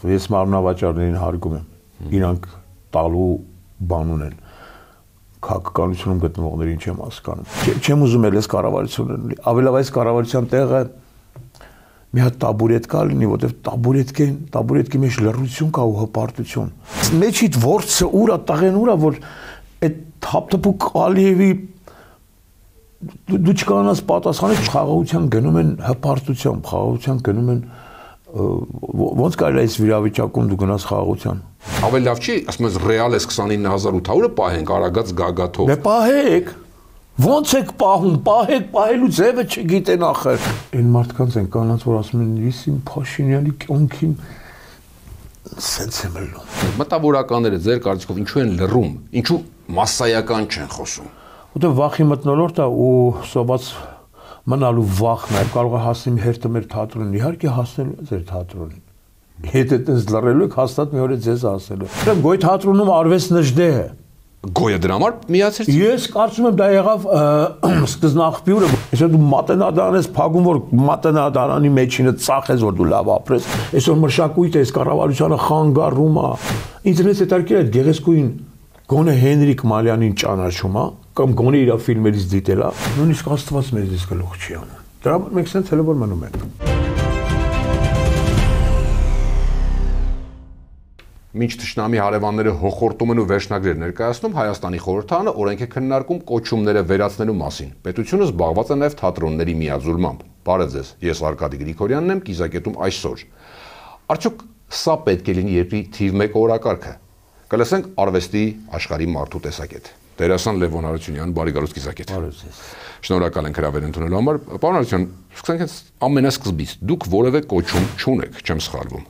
Ես մարմնավաճառներին հարգում եմ, իրանք տալու բան ունեն, քաղաքականությունում գտնվողներին չեմ հասկանում։ Չեմ ուզում էլ այս կառավարությունը լինի, ավելավ այս կառավարության տեղը մի հատ տաբուրետ կա լինի, որտեղ տաբուրետքի մեջ լռություն կա ու հպարտություն։ Մեջիդ ворցը ուրա, տաղեն ուրա, որ այդ թափթփուկ Ալիևի դու չկանաս պատասխանել, խաղաղության գնում են հպարտությամբ, խաղաղության գնում են ոնց կարելի է այս վիրավիճակում դու գնաս խաղաղության։ Ավելի լավ չի, ասում ես ռեալ էս 29800-ը պահենք արագած գագաթով։ Դե պահեք։ Ոնց եք պահում, պահելու ձևը չգիտեն ախր։ Այն մարդկանց են կանանց, որ ասում են, ես իմ Փաշինյանի կյանքին սենց եմ լռում։ Մտավորականները ձեր կարծիքով ինչու են լռում, ինչու մասսայական չեն խոսում։ Որտեղ վախի մթնոլորտ է ու սոված մնալու վախն է, կարող է հասնել հերթը մեր թատրոնին, իհարկե հասնելու է ձեր թատրոնին։ Եթե այդպես լռելու եք, հաստատ մի օր է ձեզ հասնելու։ Գոյ թատրոնում արվեց նժդեհ է։ Գոյը դրա համար միացրեց։ Ես կարծում եմ դա եղավ սկզբնաղբյուրը։ Այսօր դու մատենադարան ես փակում, որ մատենադարանի մեջինը ծախես, որ դու լավ ապրես։ Այսօր մշակույթը այս կառավարությանը խանգարում է։ Ինձ հետաքրքիր է այդ գեղեցկուին գոնե Հենրիկ Մալյանին ճանաչում է, կամ գոնե իր ֆիլմերից դիտել է, նույնիսկ Աստված մեզ գլուխ չի անում։ Դրա համար մենք սենց հələ որ մնում ենք։ Մինչ թշնամի հարևանները հոխորտում են ու վերջնագրեր ներկայացնում, Հայաստանի խորհրդարանը օրենք է քննարկում կոչումները վերացնելու մասին։ Պետությունը զբաղված է նաև թատրոնների միաձուլմամբ։ Բարև ձեզ, ես Արկադի Գրիգորյանն եմ, կիզակետում այսօր։ Արդյոք սա պետք է լինի երկրի թիվ 1 օրակարգը։ Կլսենք արվեստի աշխարհի մարդու տեսակետ։ Դերասան Լևոն Հարությունյան, բարի գալուց կիզակետ։ Բարև ձեզ։ Շնորհակալ ենք հրավեր ընդունելու համար։ Պարոն Հարությունյան, սկսենք հենց ամենասկզբից։ Դուք որևէ կոչում չունեք, չեմ սխալվում։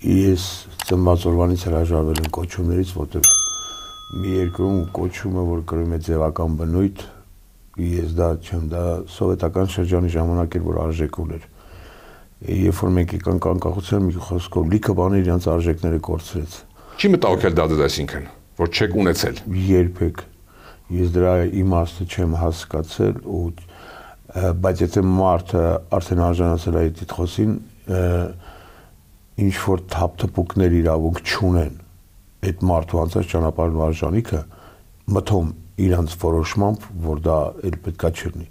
Ես ծնված օրվանից հրաժարվել եմ կոչումներից, որտեղ մի երկրում կոչումը, որ կրում է ձևական բնույթ, ես դա չեմ, դա սովետական շրջանի ժամանակ էր, որ արժեք ուներ։ Երբ որ մենք եկանք անկախության, մի խոսքով լիքը բաներ իրանց արժեքները կորցրեց։ Չի մտահոգել դա դες այսինքն, որ չեք ունեցել։ Երբեք ես դրա իմաստը չեմ հասկացել ու բայց եթե մարդը արդեն արժանացել է այդ տիտղոսին, ինչ որ թափթփուկներ իրավունք չունեն այդ մարդու անցած ճանապարհն արժանիքը մտում իրանց որոշմամբ, որ դա էլ պետքա չլինի։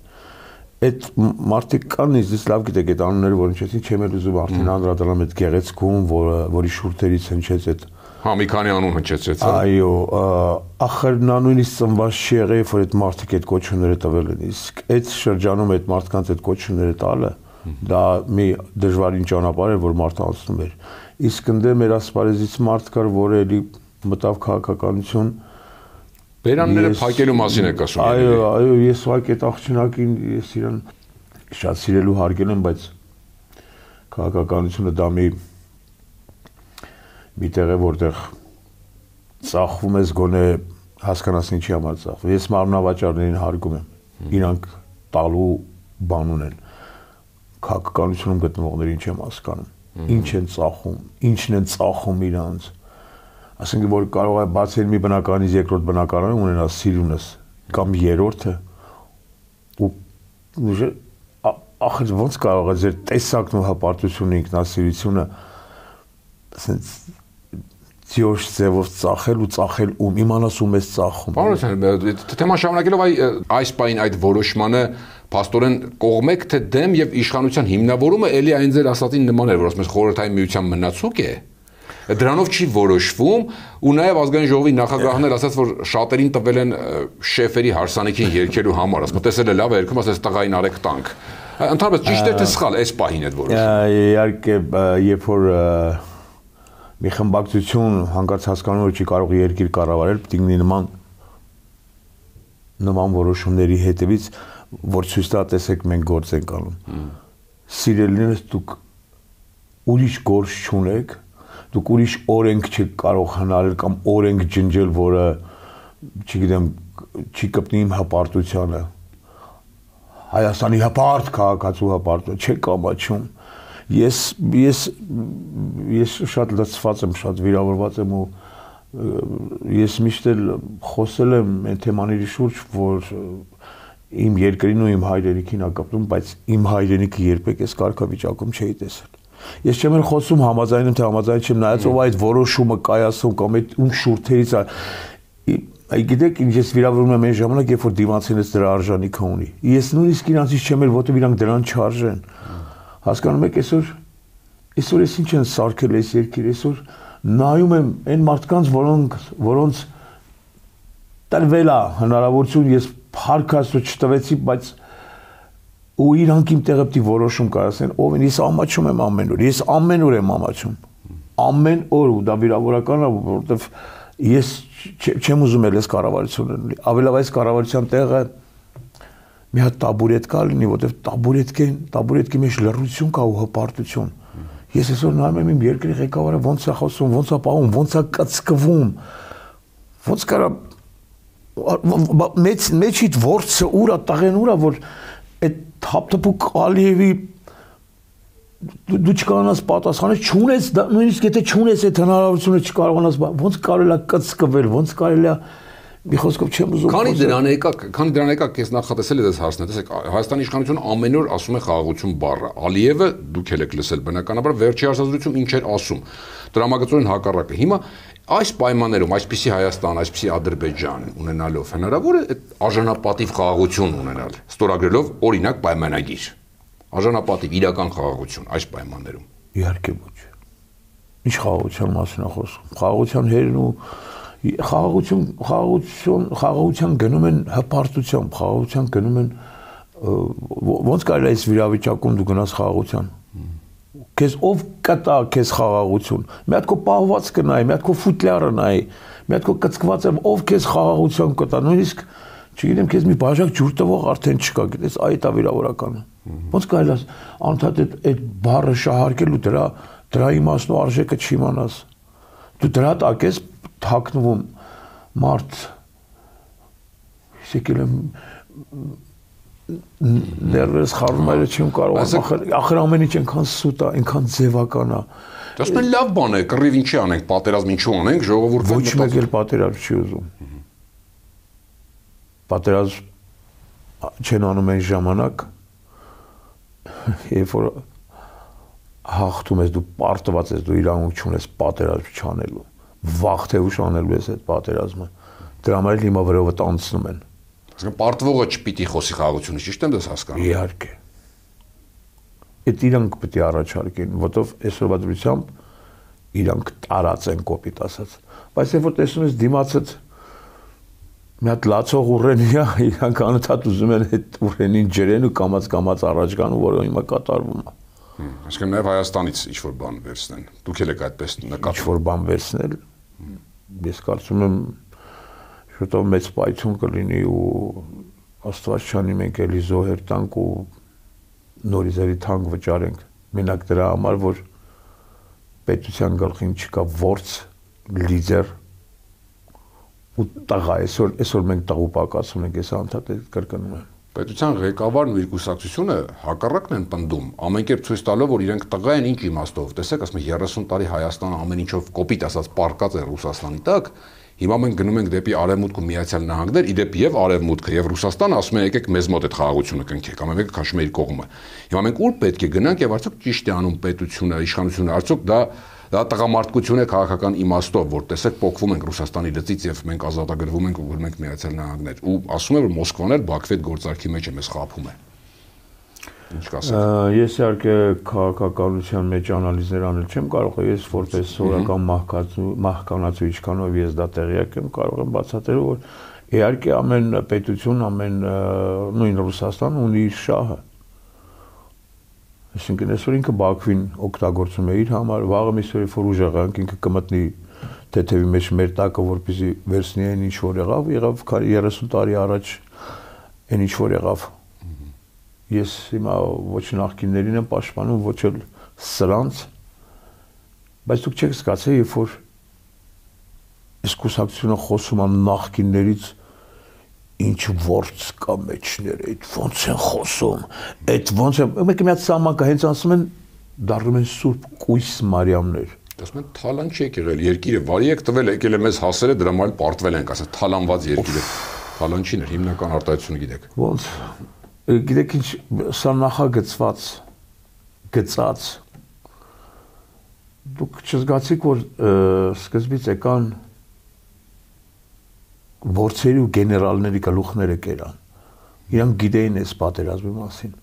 Այդ մարդիկ կան, ես լավ գիտեք այդ անունները, որ ինչեցին, չեմ էլ ուզում արդեն անդրադառնամ այդ գեղեցկուն, որի շուրթերից հնչեց այդ Հա, մի քանի անուն հնչեցրեց։ Այո, ախր նա նույնիսկ ծնված չի եղել, որ այդ մարդիկ այդ կոչումները տվել են։ Իսկ այդ շրջանում այդ մարդկանց այդ կոչումները տալը դա մի դժվարին ճանապարհ էր, որ մարդը անցնում էր։ Իսկ ընդ մեր ասպարեզից մարդ կար, որը էլի մտավ քաղաքականություն։ Բերանները փակելու մասին եք ասում։ Այո, ես ուղղակի այդ աղջնակին ես իրան շատ սիրելու հարգել եմ, բայց քաղաքականությունը դա մի տեղ է, որտեղ ծախվում ես գոնե հասկանաս ինչի համար ծախվում։ Ես մարմնավաճառներին հարգում եմ, իրանք տալու բան ունեն, քաղաքականությունում գտնվողներին չեմ հասկանում։ Ինչ են ծախում, ինչն են ծախում իրանց։ Ասենք որ կարող է բացել մի բնակարանից երկրորդ բնակարանը ունենալ սիրունս կամ երրորդը ու ախր ոնց կարող է ձեր տեսակն ու հպարտությունը ինքնասիրությունը ասենց ձյոշ ձևով ծախել ու ծախել ում իմանաս ում ես ծախում։ Պարոն, թեման շարունակելով այս պահին այդ որոշմանը փաստորեն կողմեք թե դեմ եւ իշխանության հիմնավորումը էլի այն ձեր ասածին նման էր, որ ասում ես խորհրդային միության մնացուկ է։ Դրանով չի որոշվում ու նաև ազգային ժողովի նախագահն էլ ասաց, որ շատերին տվել են շեֆերի հարսանեկին երկելու համար, ասում տեսել է լավ է երգում, ասես տղային արեք տանք։ Ընդհանրապես ճիշտ է թե սխալ այս պահին այդ որոշումը։ Իհարկե, երբ որ մի խմբակցություն հանկարծ հասկանում որ չի կարող երկիր կառավարել, պետք է նման որոշումների հետևից, որ ցույց տա տեսեք մենք գործ ենք անում։ Սիրելիներս դուք ուրիշ գործ չունեք, դուք ուրիշ օրենք չեք կարող հնարել կամ օրենք ջնջել, որը, չգիտեմ, չի կպնի իմ հպարտությանը։ Հայաստանի հպարտ քաղաքացու հպարտությունը չեք ամաչում։ Ես շատ լցված եմ, շատ վիրավորված եմ ու ես միշտ էլ խոսել եմ այն թեմաների շուրջ, որ իմ երկրին ու իմ հայրենիքին ակապտում, բայց իմ հայրենիքը երբեք այս կարգավիճակում չէի տեսել։ Ես չեմ էլ խոսում համաձայնում թե համաձայն չեմ, նայած ով այդ որոշումը կայացնում կամ այդ ում շուրթերից գիտեք ինչ ես վիրավորում եմ այն ժամանակ, երբ որ դիմացինս դրա արժանիքը ունի։ Ես նույնիսկ իրանցից չեմ էլ, որտեղ իրանք դրան չարժեն։ Հասկանում եք, այսօր ես ինչ են սարքել այս երկիրը, այսօր նայում եմ այն մարդկանց, որոնց տրվել է հնարավորություն, ես փառք Աստծո չտվեցի, բայց ու իրանք իմ տեղը պիտի որոշում կայացնեն, ով են, ես ամաչում եմ ամեն օր, ես ամեն օր եմ ամաչում, ամեն օր, ու դա վիրավորական է, որովհետև ես չեմ ուզում էլ այս կառավարությունը լինի, ավելի այս կառավարության տեղը մի հատ տաբուրետ կա լինի, որովհետև տաբուրետքի մեջ լռություն կա ու հպարտություն։ Ես այսօր նայում եմ իմ երկրի ղեկավարը ոնց է խոսում, ոնց է պահում, ոնց է կծկվում, ոնց կարա մեջիդ ворցը ուրա, տաղեն ուրա, որ այդ թափթփուկ Ալիևի դու չկարողանաս պատասխանել, չունես, նույնիսկ եթե չունես այդ հնարավորությունը չկարողանաս, ոնց կարելի է կծկվել, ոնց կարելի է մի խոսքով չեմ ուզում։ Քանի դրան եկա քեզ նախատեսել ես հասնել։ Տեսեք, Հայաստանի իշխանությունը ամեն օր ասում է խաղաղություն բառը։ Ալիևը դուք եք լսել բնականաբար վերջի հարցազրույցում ինչ էր ասում։ Դրամագծորեն հակառակը։ Հիմա այս պայմաններում այսպիսի Հայաստան, այսպիսի Ադրբեջան ունենալով հնարավոր է այդ արժանապատիվ խաղաղություն ունենալ, ստորագրելով օրինակ պայմանագիր։ Արժանապատիվ իրական խաղաղություն այս պայմաններում։ Իհարկե ոչ։ Ինչ խաղաղության մասին է խոսում։ Խաղաղության հերն ու խաղաղության գնում են հպարտությամբ, խաղաղության գնում են ոնց կարելի է այս վիրավիճակում դու գնաս խաղաղության։ Քեզ ով կտա քեզ խաղաղություն։ Մի հատ քո պահվածքը նայի, մի հատ քո ֆուտլյարը նայի, մի հատ քո կծկված եմ, ով քեզ խաղաղություն կտա։ Նույնիսկ չգիտեմ, քեզ մի բաժակ ջուր տվող արդեն չկա, գիտես, այդ է վիրավորականը։ Ոնց կարելի է անդադ այդ բառը շահարկել ու դրա իմաստն ու արժեքը չիմանաս։ Դու դրա տակ ես թաքնվում մարդ, եկել եմ ներվես խառնում այլ չեմ կարող, ախր ամեն ինչ այնքան սուտ է, այնքան ձևական է։ Դասում են լավ բան է, կռիվ ինչի անենք, պատերազմ ինչու անենք, ժողովուրդը ոչ մեկ էլ պատերազմ չի ուզում։ Պատերազմ չեն անում այն ժամանակ, երբ որ հաղթում ես, դու պարտված ես, դու իրավունք չունես պատերազմ չանելու, վաղ թե ուշ անելու ես այդ պատերազմը։ Դրա համար էլ հիմա վրովդ անցնում են։ Այսինքն պարտվողը չպիտի խոսի խաղաղությունը, ճիշտ եմ դες հասկանում։ Իհարկե։ Այդ իրանք պետք է առաջարկեն, որտով այսօրվա դրությամբ իրանք տարածեն կոպիտ ասած։ Բայց երբ որ տեսնում ես դիմացդ մի հատ լացող ուռենի է, իրանք անընդհատ ուզում են այդ ուռենին ջրեն ու կամած առաջ գան, որը հիմա կատարվում է։ Այսինքն նաև Հայաստանից ինչ-որ բան վերցնեն։ Դուք եք այդպես նկատում։ Ինչ-որ բան վերցնել, ես կարծում եմ շուտով մեծ պայթյուն կլինի ու Աստված չանի մենք էլի զոհեր տանք ու նորիզերի թանկ վճարենք։ Մենակ դրա համար, որ պետության գլխին չկա ворց, լիդեր ու տղա, այսօր մենք տղու պակասում ենք, ես անդադ կրկնում եմ։ Պետության ղեկավարն ու իր կուսակցությունը հակառակն են պնդում, ամեն կերպ ցույց տալով, որ իրենք տղա են ինչ իմաստով։ Տեսեք, ասում են 30 տարի Հայաստանը ամեն ինչով կոպիտ ասած պարկած է Ռուսաստանի տակ, հիմա մենք գնում ենք դեպի Արևմուտք ու Միացյալ Նահանգներ, իդեպ եւ Արևմուտքը եւ Ռուսաստանը ասում են եկեք մեզ մոտ այդ խաղաղությունը կնքեք, ամեն մեկը քաշում է իր կողմը։ Հիմա մենք ուր պետք է գնանք եւ արդյոք ճիշտ է անում պետությունը, իշխանությունը, արդյոք դա տղամարդկություն է քաղաքական իմաստով, որ տեսեք պոկվում ենք Ռուսաստանի լծից եւ մենք ազատագրվում ենք ու գնում ենք Միացյալ Նահանգներ։ Ու ասում է որ Մոսկվան էլ Բաքվի այդ գործարքի մեջ է մեզ խափում է։ Ինչ կասեք։ Ես իհարկե քաղաքականության մեջ անալիզներ անել չեմ կարող, ես որպես սովորական մահկանացու իշխանով ես դա տեղյակ եմ, կարող եմ բացատրել, որ իհարկե ամեն պետություն, ամեն նույն Ռուսաստան ունի իր շահը։ Այսինքն այսօր ինքը Բաքվին օգտագործում է իր համար, վաղը միսօր որ ուժեղանք ինքը կմտնի թեթևի մեջ մեր տակը, որպեսզի վերցնի այն ինչ որ եղավ 30 տարի առաջ այն ինչ որ եղավ։ Ես հիմա ոչ նախկիններին եմ պաշտպանում, ոչ էլ սրանց, բայց դուք չեք զգացել, երբ որ այս կուսակցությունը խոսում է նախկիններից ինչ ворց կա մեջներ, այդ ոնց են խոսում, այդ ոնց են, մեկը մի հատ սահման կա, հենց ասում են դառնում են սուրբ կույս մարիամներ։ Ասում են թալան չի եղել, երկիրը վարի եք տվել, եկել է մեզ հասել է, դրա համար պարտվել ենք, ասած թալանված երկիրը։ Թալան չի ներ, հիմնական արտահայտությունը գիտեք։ Ոնց, գիտեք ինչ, սա նախագծված, գծած, Դուք չզգացիք, որ սկզբից եկան որցերի ու գեներալների գլուխները կերան։ Իրանք գիտեին այս պատերազմի մասին։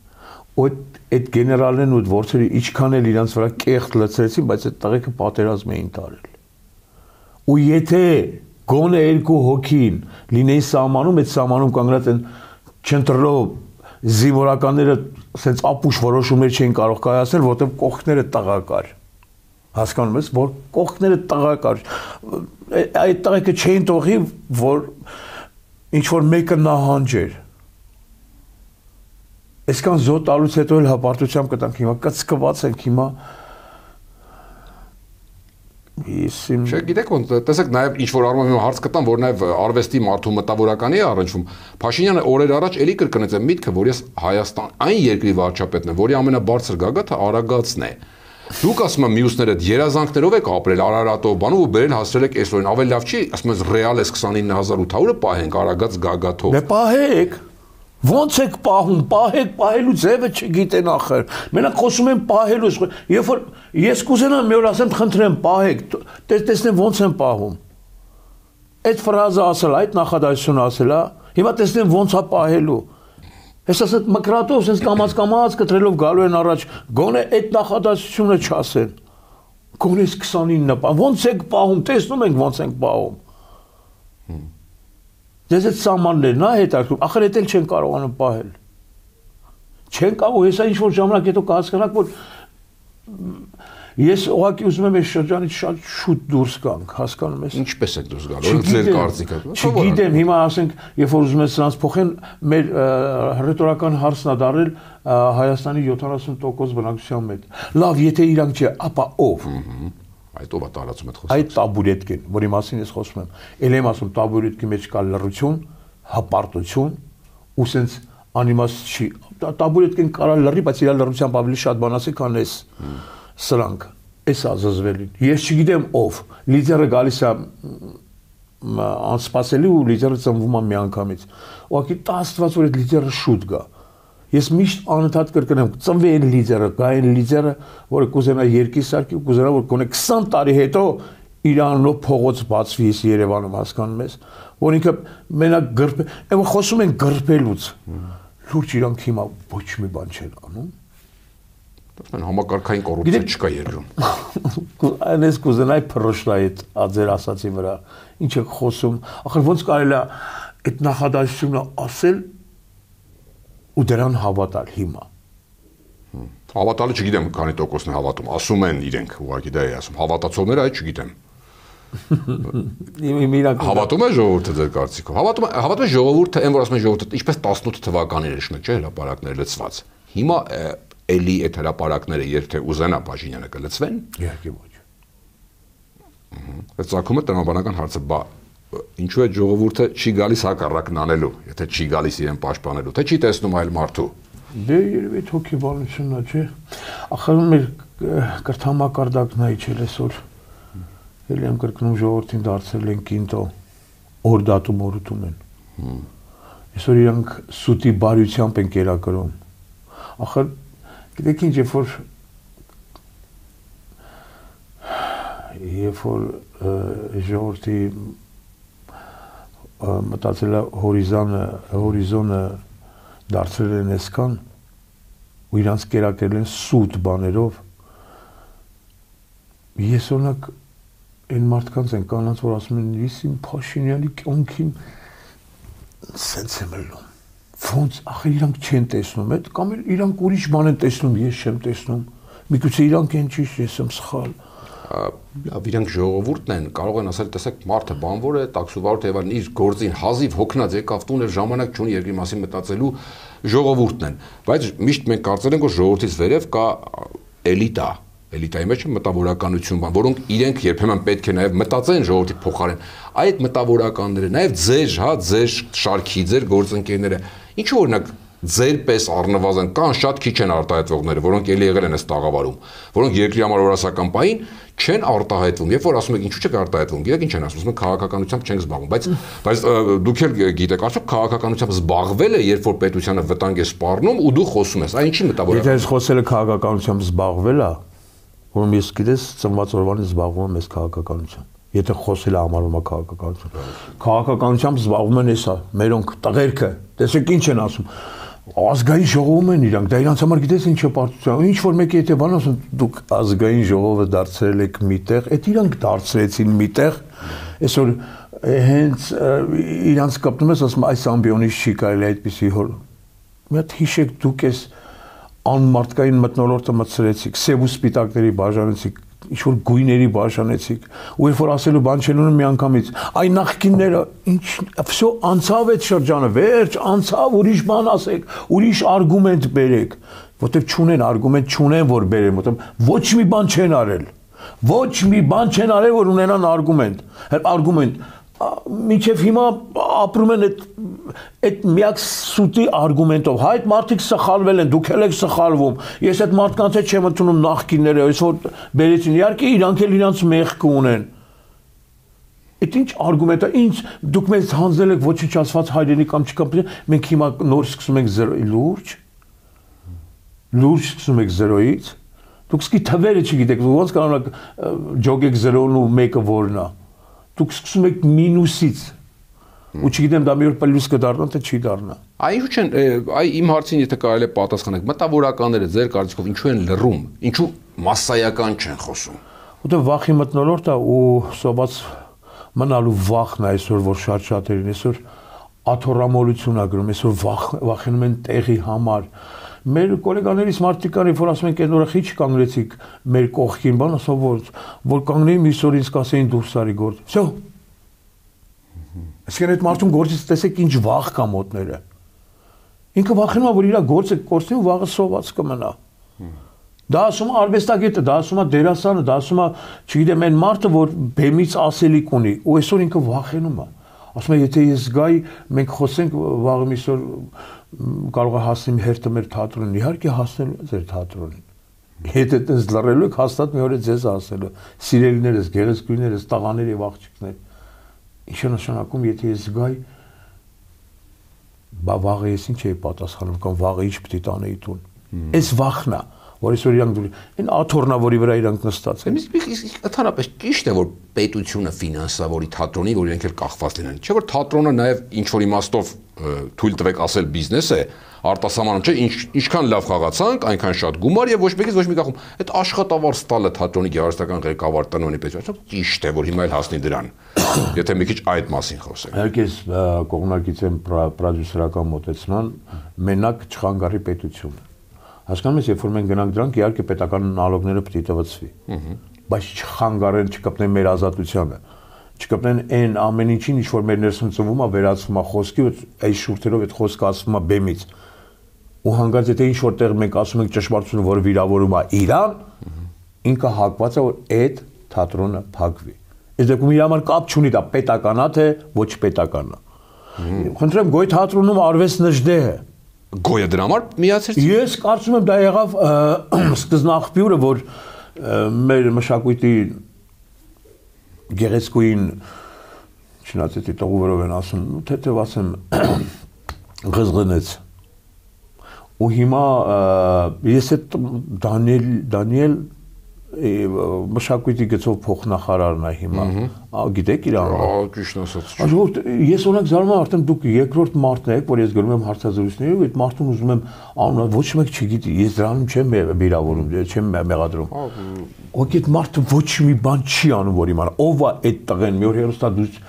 Այդ գեներալներն ու որցերը ինչքան էլ իրանց վրա կեղտ լցրեցին, բայց այդ տղեկը պատերազմ էին տարել։ Ու եթե գոնե երկու հոգին լինեին սահմանում, այդ սահմանում կանգնած են չընտրելով զինվորականները ասենց ապուշ որոշումներ չէին կարող կայացնել, որտեղ կողքները տղա կար։ Հասկանում ես, որ կողքները տղա կար։ Այդ տղեկը չէին թողի, որ ինչ որ մեկը նահանջեր։ Այսքան զոհ տալուց հետո էլ հպարտությամբ կտանք հիմա կծկված ենք հիմա։ Չէ, գիտեք ոնց, տեսեք նաև ինչ որ առումով հարց կտամ, որ նաև արվեստի մարդու մտավորականի է առնչվում։ Փաշինյանը օրեր առաջ էլի կրկնեց այն միտքը, որ ես Հայաստան այն երկրի վարչապետն եմ, որի ամենաբարձր գագաթը Արագածն է։ Դուք ասում եք մյուսները երազանքներով եք ապրել Արարատով, բանով ու բերել հասցրել եք այսօրին, ավելի լավ չի, ասում ես ռեալ էս 29800-ը պահենք Արագած գագաթով։ Դե պահեք։ Ոնց եք պահում, պահելու ձևը չգիտեն ախր։ Մենակ խոսում են պահելու, երբ որ ես կուզենամ մի օր ասեմ, խնդրեմ, պահեք, տեսնեմ ոնց են պահում։ Այդ ֆրազը ասել, այդ նախադասությունը ասել, հիմա տեսնեմ ոնց է պահելու։ Ես ասած մկրատով, sense կամած կտրելով գալու են առաջ, գոնե այդ նախադասությունը չասեն։ Գոնե 29-ը, ոնց եք պահում, տեսնում ենք ոնց ենք պահում։ Դες այդ սահմաններն է հետաքրքրում, ախր էդ էլ չեն կարողանում պահել։ Չեն կարող, հեսա ինչ-որ ժամանակ հետո կհասկանաք, որ ես ուղղակի ուզում եմ այս շրջանից շատ շուտ դուրս գանք, հասկանում ես։ Ինչպես եք դուրս գալու, որոնք ձեր կարծիքը։ Չգիտեմ, հիմա ասենք, երբ որ ուզում են սրանց փոխեն, մեր ռետորական հարցն է դարել Հայաստանի 70% բնակչության մեջ։ Լավ, եթե իրանք չէ, ապա ով։ Այդ ով է տարածում այդ խոսքը։ Այդ տաբուրետկեն, որի մասին ես խոսում եմ։ Էլ եմ ասում, տաբուրետկի մեջ կա լռություն, հպարտություն, ու սենց անիմաստ չի։ Տաբուրետկեն կարա լռի, բայց իր լռությամբ ավելի շատ բան ասի, քան էս սրանք, էս ազզվելին։ Ես չգիտեմ ով, լիդերը գալիս է անսպասելի ու լիդերը ծնվում է միանգամից։ Ուղղակի տա Աստված, որ այդ լիդերը շուտ գա։ Ես միշտ անընդհատ կրկնեմ, ծնվի այն լիդերը, գա այն լիդերը, որը կուզենա երկի սարքի ու կուզենա, որ գոնե 20 տարի հետո Իրանով փողոց բացվի Երևանում, հասկանում ես, որ ինքը մենակ գրպել, այո խոսում են գրպելուց։ Լուրջ իրանք հիմա ոչ մի բան չեն անում։ Դասն համակարգային կոռուպցիա չկա երկրում։ Այնպես կուզենայի փռոշտայի այդ աձեր ասացի վրա, ինչ եք խոսում, ախր ոնց կարելի է այդ նախադասությունը ասել ու դրան հավատալ հիմա։ Հավատալը չգիտեմ քանի տոկոսն է հավատում, ասում են իրենք, ուղղակի դա է ասում, հավատացողները այդ չգիտեմ։ Հավատում է ժողովուրդը ձեր կարծիքով։ Հավատում է ժողովուրդը, այն որ ասում են ժողովուրդը, ինչպես 18 թվականին էր շնորհ, չէ, հրապարակները լցված։ Հիմա էլի այդ հրապարակները երբ թե ուզենա Փաշինյանը կլցվեն։ Իհարկե ոչ։ Այդ ցակումը տրամաբանական հարցը, բա ինչու է ժողովուրդը չի գալիս հակառակն անելու, եթե չի գալիս իրեն պաշտպանելու, թե չի տեսնում այլ մարդու։ Դե երևի հոգեբանությունն է, չէ։ Ախր մեր կրթամակարդակն է իջել այսօր։ Էլ եմ կրկնում ժողովրդին դարձել են կինտո, օր դատում օրուտում են։ Այսօր իրանք սուտի բարությամբ են կերակրում։ Ախր գիտեք ինչ, երբ որ ժողովրդի մտածելա հորիզոնը դարձրել են այսքան ու իրանց կերակրել են սուտ բաներով, ես օրինակ այն մարդկանց են կանանց, որ ասում են, ես իմ Փաշինյանի կյանքին սենց եմ ելնում, ոնց, ախր իրանք չեն տեսնում այդ, կամ էլ իրանք ուրիշ բան են տեսնում, ես չեմ տեսնում, միգուցե իրանք են ճիշտ, ես եմ սխալ։ Իրանք ժողովուրդն են, կարող են ասել, տեսեք, մարդը բանվոր է, տաքսուվարորդ եւ այլն, իր գործին հազիվ հոգնած եկավ տուն եւ ժամանակ չունի երկրի մասին մտածելու ժողովուրդն են, բայց միշտ մենք կարծել ենք, որ ժողովրդից վերև կա էլիտա, էլիտայի մեջ մտավորականություն բան, որոնք իրենք երբեմն պետք է նաեւ մտածեն ժողովրդի փոխարեն։ Այդ մտավորականները, նաեւ ձեր շարքի, ձեր գործընկերները, ինչու օրինակ ձեր պես առնվազն կան շատ քիչ են արտահայտվողները, որոնք էլի եղել են այս տաղավարում, որոնք երկրի համար օրասական պահին չեն արտահայտվում։ Երբ որ ասում եք ինչու չեք արտահայտվում, գիտեք ինչ են ասում, ասում են քաղաքականությամբ չենք զբաղվում, բայց դուք էլ գիտեք, արդյոք քաղաքականությամբ զբաղվել է, երբ որ պետությանը վտանգ է սպառնում ու դու խոսում ես, այ ինչի մտավորական։ Եթե ես խոսելը քաղաքականությամբ զբաղվել է, Որում ես գիտես ծնված օրվանից զբաղվում եմ այս քաղաքականությամբ։ Եթե խոսելը համարվում է քաղաքականություն։ Քաղաքականությամբ զբաղվում են էսա, մերոնք տղերքը, տեսեք ինչ են ասում։ Ազգային ժողովում են իրանք, դա իրանք համար գիտես ինչ է պարտություն։ Ինչ որ մեկի եթե բան ասում, դուք ազգային ժողովը դարձրել եք միտեղ, այդ իրանք դարձրեցին միտեղ, այսօր հենց իրանք կապնում ես ասում այս ամբիոնից չի կարելի այդպեսի հոր։ Մի հատ հիշեք դուք ես անմարտկային մթնոլորտը մտցրեցիք, սև ու սպիտակների բաժանեցիք, ինչ-որ գույների բաժանեցիք, ու երբ որ ասելու բան չեն ունում միանգամից, այ նախկինները, ինչ, վсё անցավ այդ շրջանը, վերջ, անցավ, ուրիշ բան ասեք, ուրիշ արգումենտ բերեք, որտեղ չունեն արգումենտ, չունեն որ բերեն, որտեղ ոչ մի բան չեն արել, ոչ մի բան չեն արել, որ ունենան արգումենտ, մինչև հիմա ապրում են այդ միակ սուտի արգումենտով, հայ մարդիկ սխալվել են, դուք էլ եք սխալվում, ես այդ մարդկանց հետ չեմ ընդունում նախկինները, այսօր բերեցին, իհարկե իրանք էլ իրանց մեղքը ունեն, այդ ինչ արգումենտ է, ինչ դուք մեզ հանձնել եք ոչնչացված հայրենի կամ չկամ, մենք հիմա նոր սկսում ենք լուրջ սկսում եք զերոյից, դուք սկի թվերը չգիտեք, ոնց կարող եք ջոգեք 0-ն ու 1-ը որն է, դուք սկսում եք մինուսից, ու չգիտեմ դա մի օր պլյուս կդառնա, թե չի դառնա։ Ինչու չեն, իմ հարցին եթե կարելի է պատասխանեք, մտավորականները ձեր կարծիքով ինչու են լռում, ինչու massայական չեն խոսում։ Որտեղ վախի մթնոլորտ է ու սոված մնալու վախն է այսօր, որ շատ-շատերին այսօր աթոռամոլություն ա գրում, այսօր վախենում են տեղի համար։ Մեր գոլեգաներից մարդիկ կան, որ ասում են այդ օրը քիչ կանգնեցիք մեր կողքին, բան ասով որ կանգնեին մի օր ինձ կասեին դուրս արի գործ։ Всё։ Այսինքն այդ մարդուն գործից տեսեք ինչ վախ կա մոտները։ Ինքը վախենում է, որ իր գործը կորցնի ու վաղը սոված կմնա։ Դա ասում է արվեստագետը, դա ասում է դերասանը, դա ասում է, չգիտեմ, այն մարդը, որ բեմից ասելիք ունի, ու այսօր ինքը վախենում է։ Ասում է, եթե ես գայի, մենք խոսենք վաղը մի օր կարող է հասնի հերթը մեր թատրոնին, իհարկե հասնելու է ձեր թատրոնին։ Եթե դες լռելու եք, հաստատ մի օր է ձեզ ասելու, սիրելիներս, գեղեցկուներս, տղաներ եւ աղջիկներ։ Ինչ է նշանակում, եթե ես գայի, վաղը ես ինչ էի պատասխանում, կամ վաղը ինչ պիտի տանեի տուն։ Այս վախն է, որ այսօր իրանք դուրս, այն աթոռնա, որի վրա իրանք նստած են։ Ընդհանրապես ճիշտ է, որ պետությունը ֆինանսավորի թատրոնի, որ իրենք էլ կախված լինեն։ Չէ՞ որ թատրոնը նաև ինչ որ իմաստով թույլ տվեք ասել բիզնես է, արտասահմանում չէ, ինչքան լավ խաղացանք, այնքան շատ գումար եւ ոչ մի կախում։ Այդ աշխատավարձ տալը թատրոնի գեղարվեստական ղեկավար տնօրենի պետություն, ճիշտ է, որ հիմա էլ հասնի դրան։ Եթե մի քիչ այդ մասին խոսենք։ Իհարկե կողմնակից եմ պրոդյուսերական մոտեցման, մենակ չխանգարի պետությունը։ Հասկանում ես, երբ որ մենք գնանք դրանք, իհարկե պետական նալոգները պետք է տվեցվի։ Բայց չխանգարեն, չկպնեն մեր ազատությանը, չկպնեն այն ամեն ինչին, ինչ որ մեր ներսում ծնվում է, վերածվում է խոսքի, այս շուրթերով այդ խոսքը ասվում է բեմից։ Ու հանգած եթե ինչ որտեղ մենք ասում ենք ճշմարտությունը, որը վիրավորում է իրան, ինքը հակված է, որ այդ թատրոնը փակվի։ Այս դեպքում իր համար կապ չունի դա պետական է, թե ոչ պետական է։ Խնդրեմ, Գոյ թատրոնում արվեստ նժդեհ է։ Գոյը դրա համար միացրեց։ Ես կարծում եմ դա եղավ սկզբնաղբյուրը, որ մեր մշակույթի գեղեցկուին չնայած այդ տողովերով են ասում, թեթև ասեմ ղզղնեց։ Ու հիմա ես այդ Դանիել մշակույթի գծով փոխնախարարն է հիմա։ Գիտեք իր անունը։ Ճիշտ ասած։ Այսօր ես օրինակ զարմանում եմ, արդեն դուք երկրորդ մարդն եք, որ ես գրում եմ հարցազրույցների, ու այդ մարդուն ուզում եմ անունը ոչ մեկ չգիտի, ես դրանում չեմ վիրավորում, չեմ մեղադրում։ Ոք այդ մարդը ոչ մի բան չի անում, որ իմանա, ով է այդ տղեն, մի օր հերոստատուց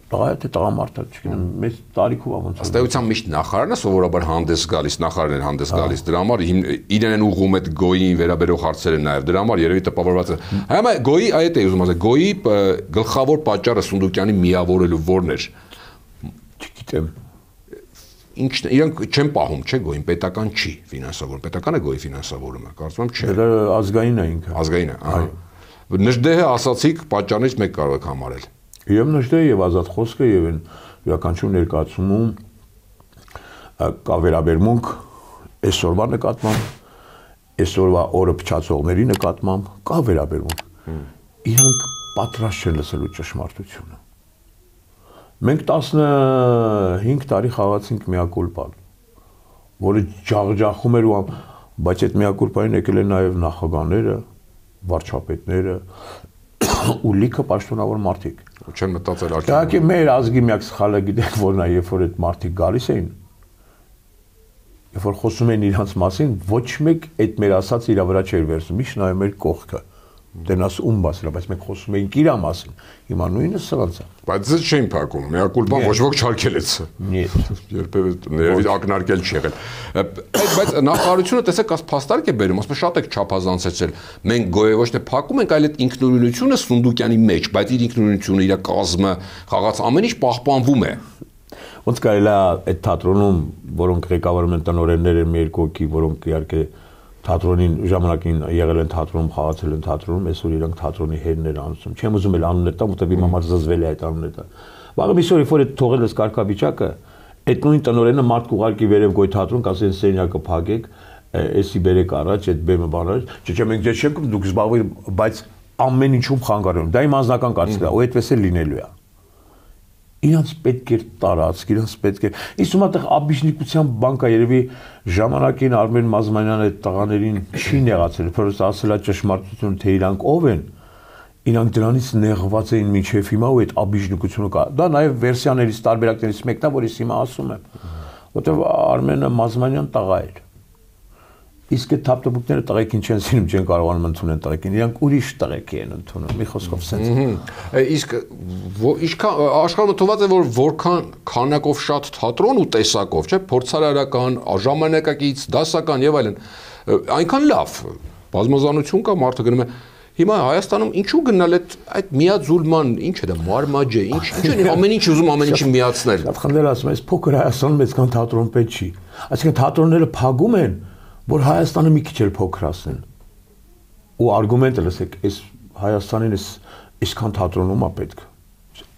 տղա է թե տղամարդ է, չգիտեմ, մեծ տարիքով է ոնց։ Ըստ էության միշտ նախարարն է սովորաբար հանդես գալիս, նախարարն են հանդես գալիս, դրա համար իրեն են ուղղում այդ Գոյին վերաբերող հարցերը նաև, դրա համար երևի տպավորված է։ Հիմա Գոյի այդ է ուզում ասել, Գոյի գլխավոր պատճառը Սունդուկյանի միավորելու որն էր։ Չգիտեմ։ Ինչն իրանք չեն պահում, չէ՞ Գոյին պետական չի ֆինանսավորում, պետական է Գոյի ֆինանսավորումը, կարծում եմ չէ։ Դա ազգային է ինքը։ Ազգային է, ահա։ Նժդեհը ասացիք պատճառներից մեկ կարող եք համարել։ Եվ նժդեհ եւ ազատ խոսքը եւ այն յուրաքանչյուր ներկայացումում կա վերաբերմունք այսօրվա նկատմամբ, այսօրվա օրը փչացողների նկատմամբ կա վերաբերմունք։ Իրանք պատրաստ չեն լսելու ճշմարտությունը։ Մենք 15 տարի խաղացինք միակուլպան, որը ջախջախում էր ու բայց այդ միակուլպային եկել են նաեւ նախագահները, վարչապետները ու լիքը պաշտոնավոր մարդիկ։ Չեն մտածել Դրանք մեր ազգի միակ սխալը գիտեք որն է, երբ որ այդ մարդիկ գալիս էին, երբ որ խոսում են իրանց մասին, ոչ մեկ այդ մեր ասած իր վրա չէր վերցնում, միշտ նայում էր կողքը։ Դենաս ում բասրա, բայց մենք խոսում էինք իր մասին։ Հիմա նույնը սրանց է։ Բայց ձեզ չէին փակում, միակուլպան ոչ ոք չարկել էց։ Երբևէ ներևից ակնարկել չի եղել։ Բայց նախարարությունը տեսեք, աս փաստարկ է բերում, ասում շատ եք չափազանցեցել։ Մենք գոյ ոչ թե փակում ենք, այլ այդ ինքնուրույնությունը Սունդուկյանի մեջ, բայց իր ինքնուրույնությունը, իր կազմը, խաղաց ամեն ինչ պահպանվում է։ Ոնց կարելի է այդ թատրոնում, որոնք ղեկավարում են տնօրեններ են մի երկու հոգի, որոնք իհարկե թատրոնին ժամանակին եղել են թատրոնում, խաղացել են թատրոնում, այսօր իրանք թատրոնի հերներ անցնում։ Չեմ ուզում էլ անուններ տամ, որտեղ իմ համար զզվել է այդ անունները։ Վաղը մի սորի որ այդ թողել ես կարգավիճակը, այդ նույն տնօրենը մարդ կուղարկի վերև գոյ թատրոն, կասեն սենյակը փակեք, էսի բերեք առաջ, այդ բեմը բանալ, չէ, մենք ձեզ չենք դուք զբաղվեք, բայց ամեն ինչում խանգարում։ Դա իմ անձնական կարծիքն է, ու այդպես էլ լինելու է։ Իրանց պետք էր տարածք, իրանց պետք է։ Իսկ ումատեղ աբիժնիկության բան կա, երևի ժամանակին Արմեն Մազմանյանը այդ տղաներին չի նեղացել, որովհետեւ ասել է ճշմարտություն, թե իրանք ով են։ Իրանք դրանից նեղված էին մինչև հիմա ու այդ աբիժնիկությունը կա։ Դա նաև վերսիաներից տարբերակներից մեկն է, որ ես հիմա ասում եմ։ Որովհետեւ Արմենը Մազմանյան տղա էր։ Իսկ այդ թափտոպուկները տղեկին չեն սիրում, չեն կարողանում ընդունել տղեկին, իրանք ուրիշ տղեկ են ընդունում, մի խոսքով սենց։ Իսկ աշխարհում թվաց է, որ որքան քանակով շատ թատրոն ու տեսակով, չէ՞, փորձարարական, ժամանակակից, դասական եւ այլն, այնքան լավ, բազմազանություն կա, մարդը գնում է։ Հիմա Հայաստանում ինչու գնալ այդ միաձուլման, ինչ է դա, մարմաջ է, ինչ են ամեն ինչ ուզում ամեն ինչին միացնել։ Շատ խնդրել ասում ես, փոքր Հայաստանում այդքան թատրոն պետք չի։ Այսինքն թատրոնները փակում են, որ Հայաստանը մի քիչ էլ փոքրացնեն։ Ու արգումենտը լսեք, այս Հայաստանին այսքան թատրոնում է պետք։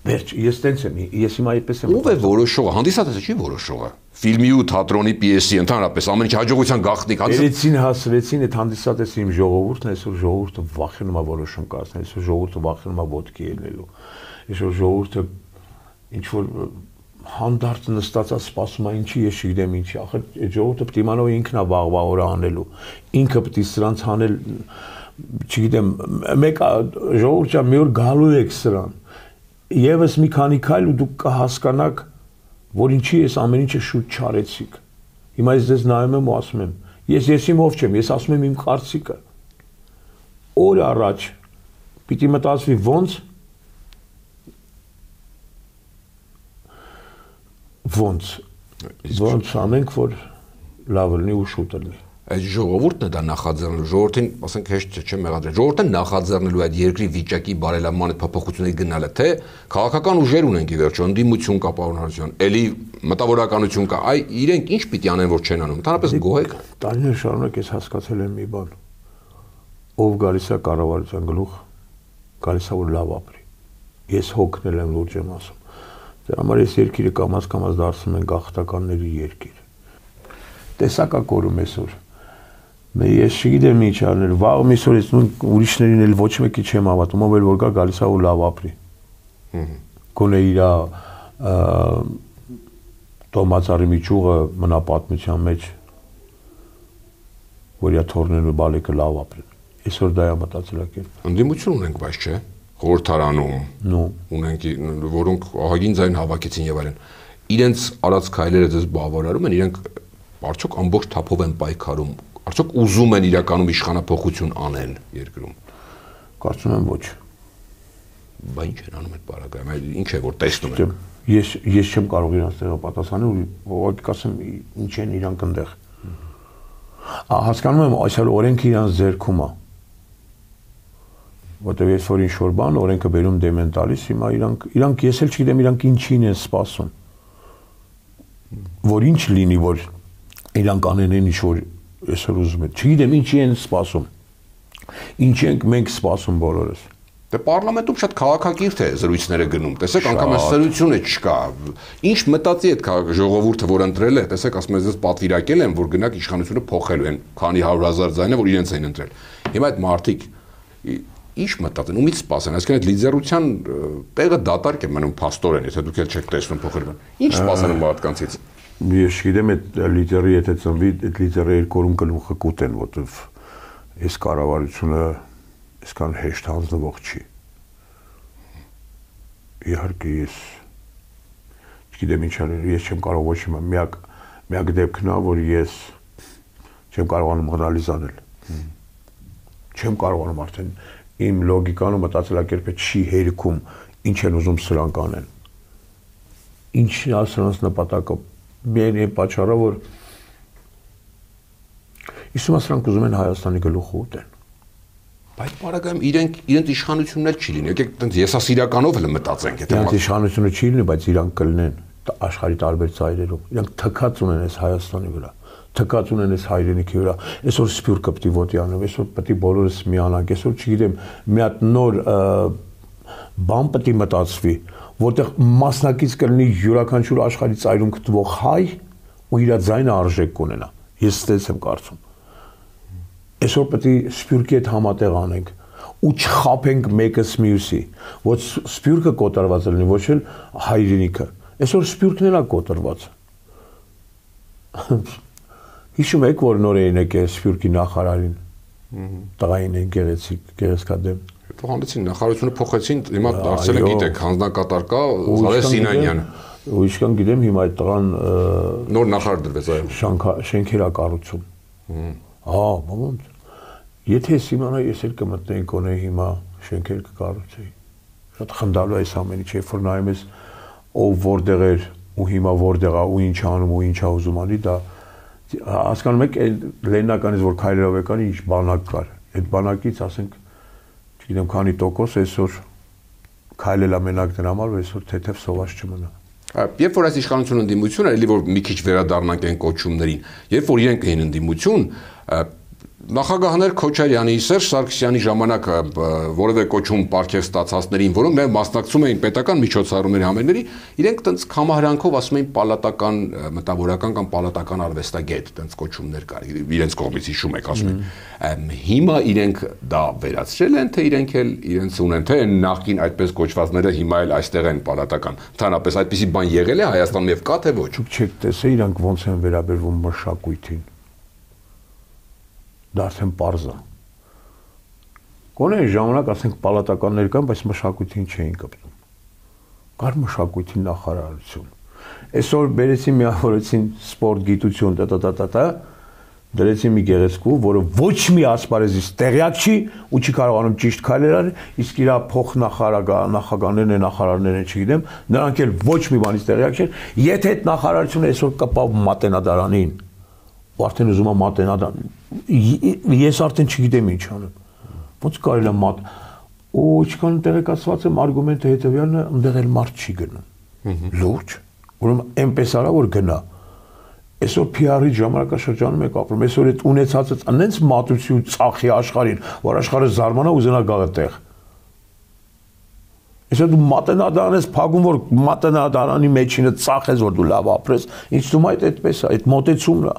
Վերջ, ես տենց եմ, ես հիմա այդպես եմ։ Ո՞վ է որոշողը, հանդիսատեսը չի որոշողը։ Ֆիլմի ու թատրոնի պիեսի ընդհանրապես ամեն ինչ հաջողության գաղտնիք։ Երեցին հասրեցին այդ հանդիսատեսի իմ ժողովուրդն, այսօր ժողովուրդը վախենում է որոշում կայացնել, այսօր ժողովուրդը վախենում է ոտքի ելնելու։ Այսօր ժողովուրդը ինչ որ հանդարտ նստածած սպասում է ինչի, ես չգիտեմ ինչի, ախր այդ ժողովուրդը պետք է իմանա ինքն է վաղվա օրը անելու, ինքը պետք է սրանց անել, չգիտեմ, մեկ ժողովուրդը մի օր գալու եք սրան, եւս մի քանի քայլ ու դուք կհասկանաք, որ ինչի ես ամեն ինչը շուտ չարեցիք։ Հիմա ես ձեզ նայում եմ ու ասում եմ, ես իմով չեմ, ես ասում եմ իմ կարծիքը։ Օր առաջ պիտի մտածվի ոնց անենք, որ լավ լինի ու շուտ լինի։ Այդ ժողովուրդն է դա նախաձեռնելու, ժողովրդին, ասենք, հեշտ չէ մեղադրել։ Ժողովուրդը նախաձեռնելու այդ երկրի վիճակի բարելավման այդ փոփոխությունների գնալը, թե քաղաքական ուժեր ունենք ի վերջո, ընդդիմություն կա, պարոնություն, էլի մտավորականություն կա, այ իրենք ինչ պիտի անեն, որ չեն անում։ Ընդհանրապես գոհ եք։ Տարիներ շարունակ ես հասկացել եմ մի բան։ Ով գալիս է կառավարության գլուխ, գալիս է որ լավ ապրի։ Ես հոգնել եմ, լուրջ եմ ասում։ Դրա համար ես երկիրը կամաց դարձնում են գաղթականների երկիր։ Տեսակա կորում այսօր։ Ես չգիտեմ ինչ անել, վաղ միսօր ես ուրիշներին էլ ոչ մեկի չեմ հավատում, ով էլ որ գա գալիս է ու լավ ապրի։ Գոնե իր տոմացարի միջուղը մնա պատմության մեջ, որ իր թորներն ու բալիկը լավ ապրեն։ Այսօր դա է մտածելակերպ։ Ընդդիմություն ունենք, բայց չէ։ Խորհրդարանում ունենք, որոնք ահագին ձայն հավաքեցին եւ այլն։ Իրենց արած քայլերը դες բավարարում են, իրենք արդյոք ամբողջ թափով են պայքարում, արդյոք ուզում են իրականում իշխանափոխություն անեն երկրում։ Կարծում եմ ոչ։ Բա ինչ են անում այդ բարակայում, ինչ է որ տեսնում են։ Ես չեմ կարող իրանց տեղը պատասխանել, ու կասեմ ինչ են իրանք այնտեղ։ Հասկանում եմ, այսօր օրենքը իրանց ձեռքում է։ Որտեւ ես որ ինչ-որ բան օրենքը բերում դեմ են տալիս, հիմա իրանք ես էլ չգիտեմ իրանք ինչին են սպասում։ Որ ինչ լինի, որ իրանք անեն ինչ որ այսօր ուզում են։ Չգիտեմ ինչի են սպասում։ Ինչ ենք մենք սպասում բոլորս։ Դե պարլամենտում շատ քաղաքակիրթ է զրույցները գնում։ Տեսեք, անգամ այս սրությունը չկա։ Ինչ մտածի այդ ժողովուրդը, որ ընտրել է, տեսեք, ասում եմ, ես պատվիրակել եմ, որ գնաք իշխանությունը փոխելու են, քանի 100,000 ձայնը, որ իրենց էին ընտրել։ Հիմա այդ մարդիկ ինչ մտածեն, ումից սպասեն, այսինքն այդ լիդերության տեղը դատարկ է մնում փաստորեն, եթե դուք էլ չեք տեսնում փոխել։ Ինչ սպասեն մարդկանցից։ Ես չգիտեմ այդ լիդերի եթե ծնվի, այդ լիդերը երկորում գլուխը կուտեն, որտեվ այս կառավարությունը այսքան հեշտ հանձնվող չի։ Իհարկե ես չգիտեմ ինչ անել, ես չեմ կարող ոչ մի միակ դեպքն է, որ ես չեմ կարողանում անալիզ անել։ Չեմ կարողանում արդեն իմ լոգիկան ու մտածելակերպը չի հերիքում ինչ են ուզում սրանք անեն։ Ինչն է սրանց նպատակը։ Միայն պատճառը, որ իսկույն սրանք ուզում են Հայաստանի գլուխը ուտեն։ Բայց բարակայում իրենց իշխանությունն էլ չի լինի։ Եկեք այտենց եսասիրականով էլ մտածենք, եթե Իրանց իշխանությունը չի լինի, բայց իրանք կլինեն աշխարհի տարբեր ծայրերում։ Իրանք թքած ունեն այս Հայաստանի վրա, թքած ունեն այս հայրենիքի վրա։ Այսօր սփյուռքը պետք է ոտի անենք, այսօր պետք է բոլորս միանանք, այսօր չգիտեմ, մի հատ նոր բան պետք է մտածվի, որտեղ մասնակից կլինի յուրաքանչյուր աշխարհի ծայրում գտնվող հայ ու իր ձայնը արժեք կունենա։ Ես այդպես եմ կարծում։ Այսօր պետք է սփյուռքի հետ համատեղ անենք ու չխափենք մեկս մյուսի, ոչ սփյուռքը կոտրված լինի, ոչ էլ հայրենիքը։ Այսօր սփյուռքն էլ է կոտրված։ Հիշում եք, որ նոր էին եկել սփյուռքի նախարարին։ Տղային են գեղեցկադեմ։ Հետո հանդեցին նախարարությունը փոխեցին, հիմա դարձել է գիտեք, հանձնակատար կա Զարե Սինանյանը։ Ու ինչքան գիտեմ, հիմա այդ տղան նոր նախարար դրվեց, այո։ Շենքեր է կառուցում։ Ոնց։ Եթե ես իմանայի, ես էլ կմտնեի գոնե հիմա շենքեր կկառուցեի։ Շատ խնդալու է այս ամեն ինչ, երբ որ նայում ես ով որտեղ էր ու հիմա որտեղ է ու ինչ անում ու ինչ է ուզում անի, դա հասկանում եք, Լենինականից որ քայլերով եկան, ինչ բանակ կար։ Այդ բանակից, ասենք, չգիտեմ, քանի տոկոս այսօր քայլել է մենակ դրա համար, որ այսօր թեթև սոված չմնա։ Երբ որ այս իշխանությունը ընդդիմություն է, էլի որ մի քիչ վերադառնանք այն կոչումներին, երբ որ իրենք էին ընդդիմություն, նախագահներ Քոչարյանի, Սերժ Սարգսյանի ժամանակ որևէ կոչում պարգև ստացածներին, որոնք նաև մասնակցում էին պետական միջոցառումների համերգների, իրենք տենց կամահրանքով ասում էին պալատական մտավորական կամ պալատական արվեստագետ, տենց կոչումներ կար, իրենց կողմից հիշում եք, ասում են։ Հիմա իրենք դա վերացրել են, թե իրենք էլ իրենց ունեն, թե նախկին այդպես կոչվածները հիմա էլ այստեղ են պալատական։ Ընդհանրապես այդպիսի բան եղել է Հայաստանում եւ կա թե ոչ։ Չեք տեսել իրանք ոնց են վերաբերվում մշակույթին։ Դա արդեն պարզ է։ Գոնե ժամանակ ասենք պալատականներ կան, բայց մշակույթին չէին կապվում։ Կար մշակույթի նախարարություն։ Այսօր բերեցին միավորեցին սպորտ, գիտություն, դրեցին մի գեղեցկու, որը ոչ մի ասպարեզից տեղյակ չի ու չի կարողանում ճիշտ քայլեր անել, իսկ իր նախագահներն են, նախարարներն են, չգիտեմ, նրանք էլ ոչ մի բանից տեղյակ չեն։ Եթե այդ նախարարությունը այսօր կպավ մատենադարանին, արդեն ուզում եմ մատենադան։ Ես արդեն չգիտեմ ինչ անեմ։ Ոնց կարելի է մատ։ Ու ինչքան տեղեկացված եմ, արգումենտը հետևյալն է, այնտեղ էլ մարդ չի գնում։ Լուրջ։ Ուրեմն այնպես արա որ գնա։ Այսօր PR-ի ժամանակաշրջանում եք ապրում։ Այսօր այդ ունեցածը այնց մատուցություն ծախի աշխարհին, որ աշխարհը զարմանա ու զնա գա այդտեղ։ Այսօր դու մատենադարան ես փակում, որ մատենադարանի մեջինը ծախես, որ դու լավ ապրես։ Ինչ դու այդ այդպես է, այդ մոտեցումն է։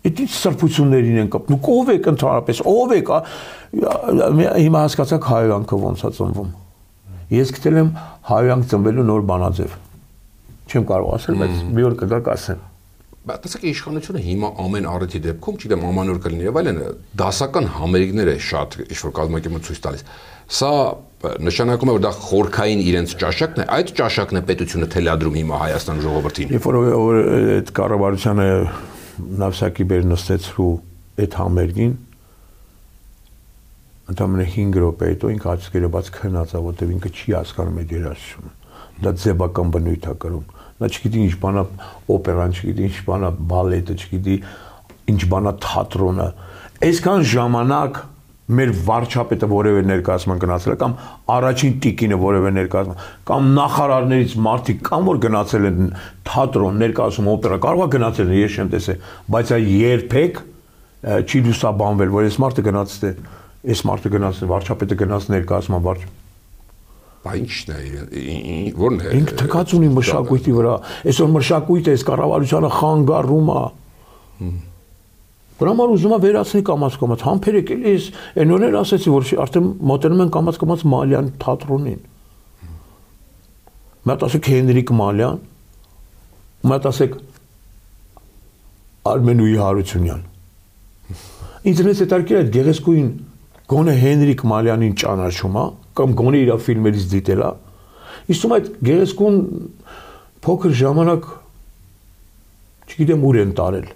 Այդ ինչ սրբություններին են կապ։ Դուք ով եք ընդհանրապես, ով եք, հիմա հասկացաք հայոյանքը ոնց է ծնվում։ Ես գտել եմ հայոյանք ծնվելու նոր բանաձև։ Չեմ կարող ասել, բայց մի օր կգա կասեմ։ Բայց տեսեք իշխանությունը հիմա ամեն առիթի դեպքում, չգիտեմ, ամանոր կլինի եւ այլն, դասական համերգներ է շատ ինչ-որ կազմակերպում ցույց տալիս։ Սա նշանակում է, որ դա խորքային իրենց ճաշակն է, այդ ճաշակն է պետությունը թելադրում հիմա Հայաստան ժողովրդին։ Երբ որ այդ կառավարությանը Նավսակի բեր նստեցրու այդ համերգին, ընդամենը 5 րոպե հետո ինքը աչքերը բաց քնած է, որտեղ ինքը չի հասկանում այդ երաժշտությունը։ Դա ձևական բնույթ է կրում։ Նա չգիտի ինչ բան է օպերան, չգիտի ինչ բան է բալետը, չգիտի ինչ բան է թատրոնը։ Այսքան ժամանակ մեր վարչապետը որևէ ներկայացման գնացել է կամ առաջին տիկինը որևէ ներկայացման կամ նախարարներից մարդիկ կան որ գնացել են թատրոն, ներկայացում, օպերա, կարող է գնացել, ես չեմ տեսել, բայց այ երբեք չի լուսաբանվել, որ այս մարդը գնացել է, այս մարդը գնացել, վարչապետը գնացել ներկայացման վարչ։ Բա ի՞նչն է, ո՞րն է։ Ինքը թքած ունի մշակույթի վրա։ Այսօր մշակույթը այս կառավարությանը խանգարում է։ Դրա համար ուզում եմ վերացնել կամաց-կամաց, համբերեք էլի ես այն օրեր ասեցի, որ արդեն մոտենում են կամաց-կամաց Մալյան թատրոնին։ Մատ ասեք Հենրիկ Մալյան, մատ ասեք Արմենուհի Հարությունյան։ Ինձ մեծ հետաքրքիր է այդ գեղեցկուին գոնե Հենրիկ Մալյանին ճանաչում է, կամ գոնե իր ֆիլմերից դիտել է։ Իսկ ում այդ գեղեցկուն փոքր ժամանակ չգիտեմ ուր են տարել։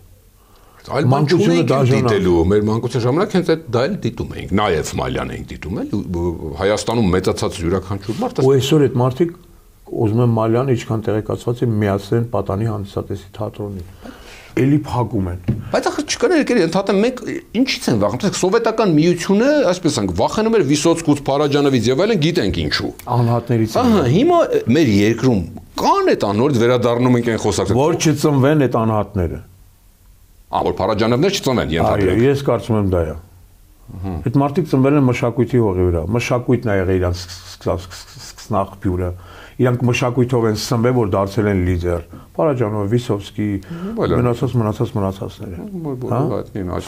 Այլ մանկությունը դիտելու, մեր մանկության ժամանակ հենց այդ դա էլ դիտում էինք, նաև Մալյան էինք դիտում էլ, Հայաստանում մեծացած յուրաքանչյուր մարդ։ Ու այսօր այդ մարդիկ ուզում են Մալյանը ինչքան տեղեկացված է միացնեն Պատանի հանդիսատեսի թատրոնին։ Էլի փակում են։ Բայց ախր չկան երկրի ընդհանրապես մենք ինչից են վախենում։ Տեսեք, սովետական միությունը, այսպես ասենք, վախենում էր Վիսոցկուց, Փարաջանովից եւ այլն, գիտենք ինչու։ Անհատներից։ Ահա, հիմա մեր երկրում կան այդ անորից վերադառնում ենք այն խոսակցը։ Որ չծնվեն այդ անհատները։ Որ Փարաջանովներ չծնվեն, ենթադրենք։ Այո, ես կարծում եմ դա է։ Այդ մարդիկ ծնվել են մշակույթի հողի վրա։ Մշակույթն է եղել իրանց սկսնաղբյուրը։ Իրանք մշակույթով են սնվել, որ դարձել են լիդեր։ Փարաջանովը, Վիսովսկի, մնացածները։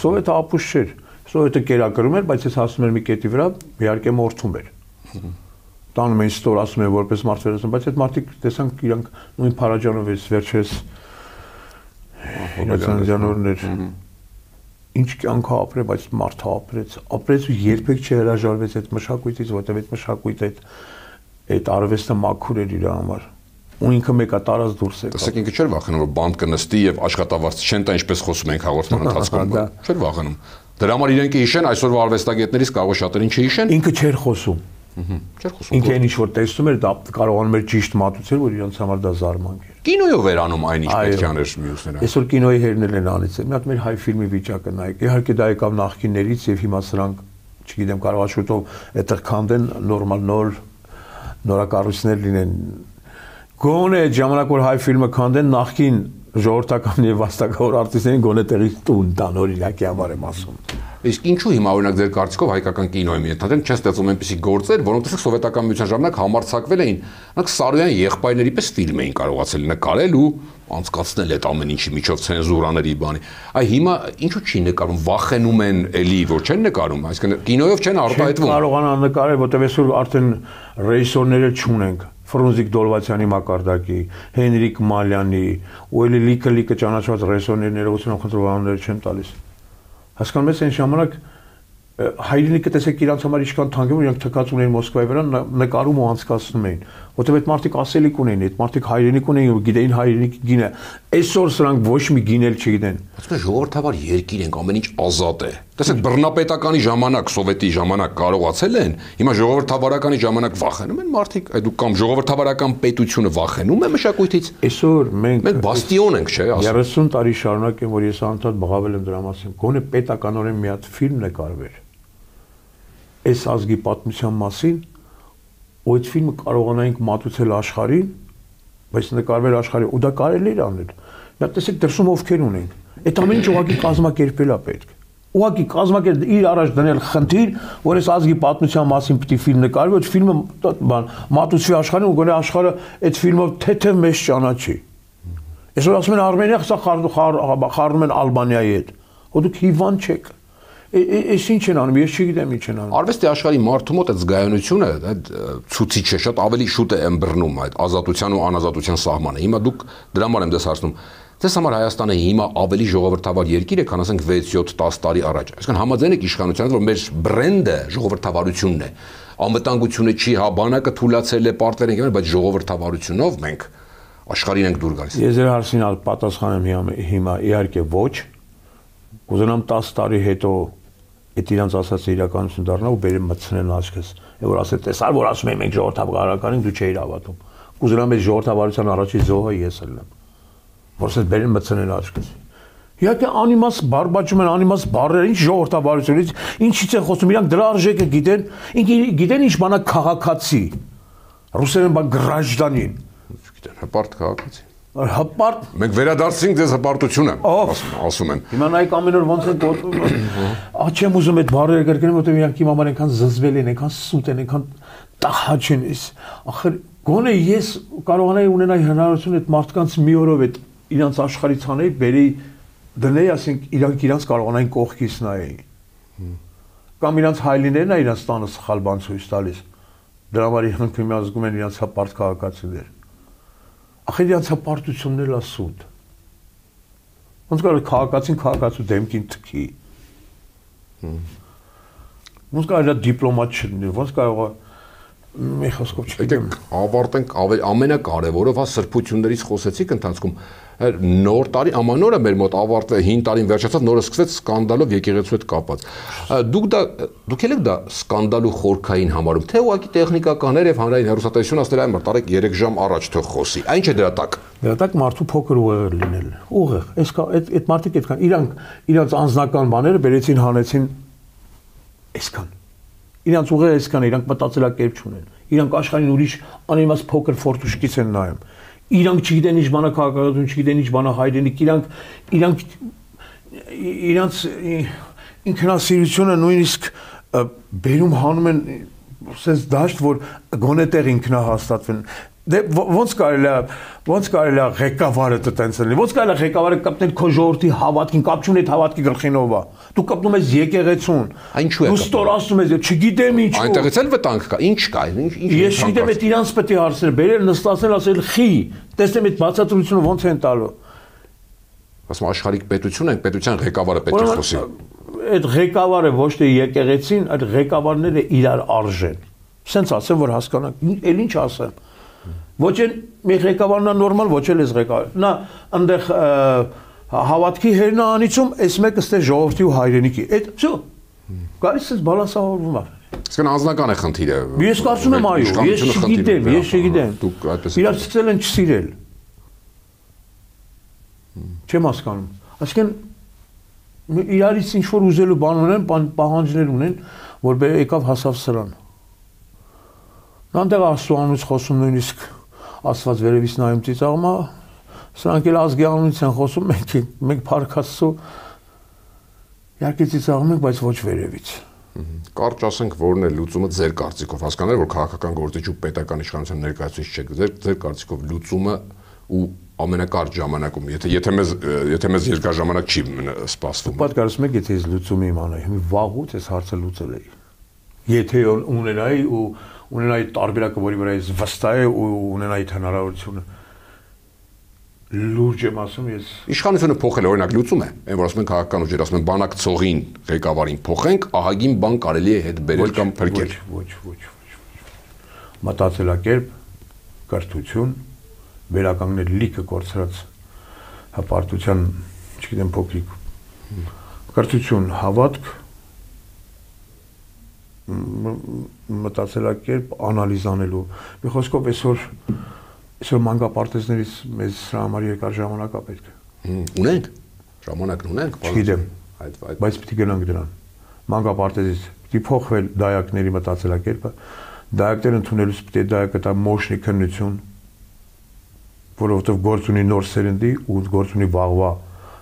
Սովետը ապուշ չէր։ Սովետը կերակրում էր, բայց ես հասնում էր մի կետի վրա, իհարկե մորթում էր։ Տանում էին ստոր, ասում են որպես մարդ վերածում, բայց այդ մարդիկ տեսանք իրանք նույն Փարաջանովից վերջերս Ինոցանյանորներ ինչ կյանք ապրել, բայց մարդը ապրեց ու երբեք չհրաժարվեց այդ մշակույթից, որտեղ այդ մշակույթը այդ արվեստը մաքուր էր իր համար։ Ու ինքը մեկա տարած դուրս եկավ։ Տեսեք, ինքը չէր վախենում, որ բանտ կնստի եւ աշխատավարձ չեն տա, ինչպես խոսում ենք հաղորդման ընթացքում։ Չէր վախենում։ Դրա համար իրենք հիշեն, այսօրվա արվեստագետներից կարող է շատերին չհիշեն։ Ինքը չէր խոսում։ Չէր խոսում։ Ինքը ինչ որ տեսնում էր, դա կարողանում էր ճիշտ մատուցել, որ իրենց համար դա զարմանք էր։ Կինոյով էր անում այն ինչ պետք է աներ մյուսները։ Այսօր կինոյի հերներն են անից։ Մի հատ մեր հայ ֆիլմի վիճակը նայեք։ Իհարկե դա եկավ նախկիններից եւ հիմա սրանք, չգիտեմ, կարող է շուտով այդտեղ քանդեն նորմալ նորակառույցներ լինեն։ Գոնե ժամանակ որ հայ ֆիլմը քանդեն նախկին ժողովրդական եւ վաստակավոր արտիստերին գոնե տեղից տուն տան, օրինակի համար եմ ասում։ Իսկ ինչու հիմա օրինակ ձեր կարծիքով հայկական կինոյի մի ընդհանրեն չեն ստեղծում այնպիսի գործեր, որոնք տեսեք սովետական միության ժամանակ համարձակվել էին, նրանք Սարոյան եղբայրների պես ֆիլմ էին կարողացել նկարել ու անցկացնել այդ ամեն ինչի միջով ցենզուրաների բանի։ Այ հիմա ինչու չի նկարում, վախենում են էլի, որ չեն նկարում, այսինքն կինոյով չեն արտահայտվում։ Կարողանան նկարել, որտեղ այսօր արդեն ռեժիսորները չունենք։ Ֆրունզիկ Դոլվացյանի մակարդակի, Հենրիկ Մալյանի, ու էլի լիքը ճանաչված ռեժիսորների ներողություն խնդրում անունները չեմ տալիս։ Հասկանում ես, այն ժամանակ հայրենիքը տեսեք իրանց համար ինչքան թանկ էր, իրանք թքած ունեին Մոսկվայի վրա, նկարում ու անցկացնում էին, որտեղ այդ մարդիկ ասելիք ունեին, այդ մարդիկ հայրենիք ունեին ու գիտեին հայրենիքի գինը։ Այսօր սրանք ոչ մի գին էլ չգիտեն։ Ասում են ժողովրդավար երկիր ենք, ամեն ինչ ազատ է։ Տեսեք, բռնապետականի ժամանակ, սովետի ժամանակ կարողացել են, հիմա ժողովրդավարականի ժամանակ վախենում են մարդիկ, այդ կամ ժողովրդավարական պետությունը վախենում է մշակույթից։ Այսօր մենք բաստիոն ենք, չէ՞, ասում։ 30 տարի շարունակ եմ, որ ես անդադ բղավել եմ դրա մասին։ Գոնե պետականորեն մի հատ ֆիլմ նկարվեր այս ազգի պատմության մասին, ու այդ ֆիլմը կարողանայինք մատուցել աշխարհին, բայց նկարվել աշխարհի, ու դա կարելի էր անել։ Դա տեսեք դրսում ովքեր ունեն։ Այդ ամեն ինչ ուղղակի կազմակերպել է պետք։ Ուղղակի կազմակերպել իր առաջ դնել խնդիր, որ այս ազգի պատմության մասին պետք է ֆիլմ նկարվի, այդ ֆիլմը մատուցվի աշխարհին, ու գոնե աշխարհը այդ ֆիլմով թեթև մեծ ճանաչի։ Այսօր ասում են Արմենիա սա խառնում են Ալբանիայի հետ։ Ու դուք հիվանդ չեք։ Այս ինչ են անում, ես չգիտեմ ինչ են անում։ Արվեստի աշխարհի մարդու մոտ այդ զգայունությունը, այդ ցուցիչ է, շատ ավելի շուտ է ըմբռնում այդ ազատության ու անազատության սահմանը։ Հիմա դուք դրա համար եմ դες հարցնում։ Ձեզ համար Հայաստանը հիմա ավելի ժողովրդավար երկիր է, քան ասենք 6-7-10 տարի առաջ։ Այսինքն համաձայն եք իշխանությանից, որ մեր բրենդը ժողովրդավարությունն է։ Անվտանգությունը չի, հա, բանակը թուլացել է, պարտեր ենք, բայց ժողովրդավարությունով մենք աշխարհին ենք դուր գալիս։ Ես ձեր հարցին պատասխանեմ հիմա իհարկե ոչ։ Կուզենամ 10 տարի հետո այդ իրանց ասածը իրականություն դառնա ու բերեմ մտցնեն աչքս։ Եվ որ ասել տեսար, որ ասում եմ մենք ժողովրդավարական ենք, դու չէիր հավատում։ Կուզենամ այդ ժողովրդավարության առաջի զոհը ես եմ։ Որ ասել բերեմ մտցնեն աչքս։ Իհարկե անիմաց բարբաճում են, անիմաց բառեր, ինչ ժողովրդավարությունից, ինչից են խոսում, իրանք դրա արժեքը գիտեն, գիտեն ինչ բանա քաղաքացի։ Ռուսերեն բան գրաժդանին։ Գիտեն, հպարտ քաղաքացի։ Հպարտ։ Մենք վերադարձինք ձեզ հպարտությունը, ասում են։ Հիմա նայեք ամեն օր ոնց են գործում։ Չեմ ուզում այդ բառերը կրկնել, որտեղ իրանք իմ համար այնքան զզվել են, այնքան սուտ են, այնքան տաղաչ են։ Ախր գոնե ես կարողանայի ունենալ հնարավորություն այդ մարդկանց մի օրով այդ իրանց աշխարհից հանեի, բերի դնեի, ասենք իրանք կարողանային կողքից նայեին։ Կամ իրանց հայլիներն է իրանց տանը սխալ բան ցույց տալիս։ Դրա համար իրանք հիմա ազգում են իրանց հպարտ քաղաքացիներ։ Ախր իրանց հպարտությունն էլ է սուտ։ Ոնց կարող քաղաքացին քաղաքացու դեմքին թքի։ Ոնց կարելի է դիպլոմատ չլինել, ոնց կարող է մի խոսքով չգիտեմ։ Ավարտենք ամենակարևորը, հա սրբություններից խոսեցիք ընթացքում։ Նոր տարի ամանորը մեր մոտ ավարտվել, 5 տարին վերջացած, նորը սկսվեց սկանդալով եկեղեցու հետ կապված։ Դուք եք դա սկանդալու խորքային համարում, թե ուղղակի տեխնիկականներ եւ հանրային հեռուստատեսություն ասել այն մարտարեք 3 ժամ առաջ թող խոսի։ Այն չէ դրա տակ։ Դրա տակ մարդու փոքր ուղեղը լինել։ Ուղեղ, այդ մարդիկ այդքան իրանք անձնական բաները բերեցին հանեցին այսքան։ Իրանք ուղեղը այսքան, իրանք մտածելակերպ չունեն։ Իրանք աշխարհին ուրիշ անիմաց փոքր ֆորտուշկից են նայում։ Իրանք չգիտեն ինչ բանա քաղաքականություն, չգիտեն ինչ բանա հայրենիք, իրանք ինքնասիրությունը նույնիսկ բերում հանում են ասես դաշտ, որ գոնե տեղ ինքնահաստատվեն։ Դե ոնց կարելի է ղեկավարը տենց լինի։ Ոնց կարելի է ղեկավարը կապնել քո ժողովրդի հավատքին, կապ չունի այդ հավատքի գլխինով է։ Դու կապնում ես եկեղեցուն։ Ինչու է։ Դու ստորացնում ես, չգիտեմ ինչու։ Այնտեղից էլ վտանգ կա։ Ինչ կա։ Ես չգիտեմ, այդ իրանց պետք է հարցնել, բերել նստացնել, ասել խի, տեսնեմ այդ բացատրությունը ոնց են տալու։ Ասում աշխարհիկ պետություն են, պետության ղեկավարը պետք է խոսի։ Այդ ղեկավարը ոչ թե եկեղեցին, այդ ղեկավարները իրար արժեն։ Սենց ասեմ, որ հասկանանք, էլ ինչ ասեմ։ Ոչ էլ մի ղեկավարն է նորմալ, ոչ էլ էս ղեկավար։ Նա այնտեղ հավատքի հերնանիցում, այս մեկը ստե ժողովրդի ու հայրենիքի։ Այդ всё։ Գալիս է բալանսավորվում է։ Իսկն անձնական է խնդիրը։ Ես կարծում եմ այո, ես չգիտեմ։ Դուք այդպես իրար ցցել են չսիրել։ Չեմ հասկանում։ Այսինքն իրարից ինչ որ ուզելու բան ունեն, պահանջներ ունեն, որ եկավ հասավ սրան։ Նանդեղ Աստծոանից խոսում նույնիսկ Աստված վերևից նայում ծիծաղում է, սրանք էլ ազգի անունից են խոսում, մենք փառքաստու իհարկե ծիծաղում ենք, բայց ոչ վերևից։ Կարճ ասենք, որն է լուծումը ձեր կարծիքով, հասկանալ, որ քաղաքական գործիչ ու պետական իշխանության ներկայացուցիչ չեք, ձեր կարծիքով լուծումը ու ամենակարճ ժամանակում, եթե մեզ երկար ժամանակ չի սպասվում։ Պատկերացնում եք, եթե ես լուծումը իմանայի, վաղուց ես հարցը լուծել էի։ Եթե ունենայի տարբերակը, որի վրա ես վստահ եմ ու ունենայի հնարավորությունը, լուրջ եմ ասում ես։ Իշխանությունը փոխել օրինակ լուծում է, այն որ ասում են քաղաքական ուժեր, ասում են բանակցողին ղեկավարին փոխենք, ահագին բան կարելի է հետ բերել կամ փրկել։ Ոչ։ Մտածելակերպ, կրթություն, վերականգնել լիքը կորցրած հպարտության, չգիտեմ, փոքրիկ կրթություն, հավատք, մտածելակերպ անալիզ անելու։ Մի խոսքով այսօր մանկապարտեզներից մեզ սրա համար երկար ժամանակ է պետք։ Ունենք, ժամանակն ունենք։ Չգիտեմ, բայց պիտի գնանք դրան։ Մանկապարտեզից պիտի փոխվել դայակների մտածելակերպը, դայակները ընդունելուց պիտի դայակը տա մոշնի քննություն, որովհետև գործ ունի նոր սերնդի ու գործ ունի վաղվա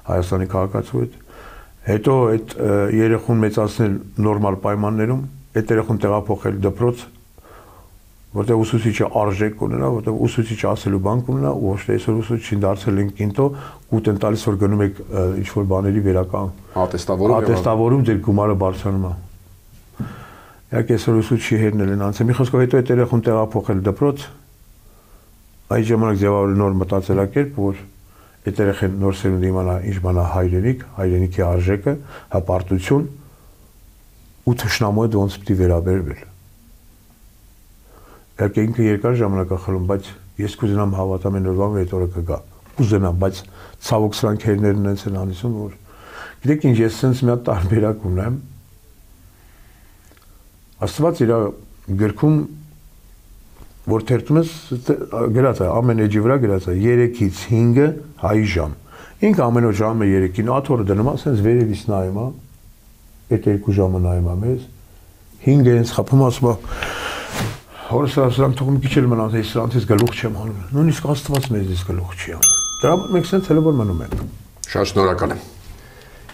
Հայաստանի քաղաքացու հետ։ Հետո այդ երեխուն մեծացնել նորմալ պայմաններում, այդ երեխուն տեղափոխել դպրոց, որտեղ ուսուցիչը արժեք ունենա, որտեղ ուսուցիչը ասելու բան կունենա, ու ոչ թե այսօր ուսուցիչին դարձել են կինտո, կուտ են տալիս, որ գնում եք ինչ-որ բաների վերական ատեստավորում ձեր գումարը բարձրանում է։ Իհարկե այսօր ուսուցիչի հերնել են անցել։ Մի խոսքով հետո այդ երեխուն տեղափոխել դպրոց, այդ ժամանակ ձևավորել նոր մտածելակերպ, որ այդ երեխան նոր սերունդը իմանա ինչ բան է հայրենիք, հայրենիքի արժեքը, հպարտություն ու թշնամու հետ ոնց պիտի վերաբերվել։ Իհարկե ինքը երկար ժամանակ է խլում, բայց ես կուզենամ հավատամ այն օրվան, որ այդ օրը կգա։ Կուզենամ, բայց ցավոք սրանք հերներն են ցեն անիսում, որ գիտեք ինչ, ես sense մի հատ տարբերակ ունեմ։ Աստված իր գրքում որ թերթում ես գրած է ամեն էջի վրա գրած է 3-ից 5-ը հայ ժամ։ Ինքը ամեն օր ժամը 3-ին աթոռը դնում է, ասես վերևից նայում է, այդ 2 ժամը նայում է մեզ, 5-ը ինձ խփում ասում է հորս ասրանք թողում քիչ էլ մնաց, ես սրանից գլուխ չեմ հանում։ Նույնիսկ Աստված մեզից գլուխ չի հանում։ Դրա մենք sense հələ որ մնում ենք։ Շատ շնորհակալ եմ։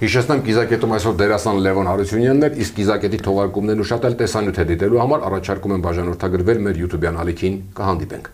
Հիշեցնեմ Կիզակետում այսօր դերասան Լևոն Հարությունյանն էր, իսկ Կիզակետի թողարկումներն ու շատ էլ տեսանյութ է դիտելու համար առաջարկում եմ բաժանորդագրվել մեր YouTube-յան ալիքին, կհանդիպենք։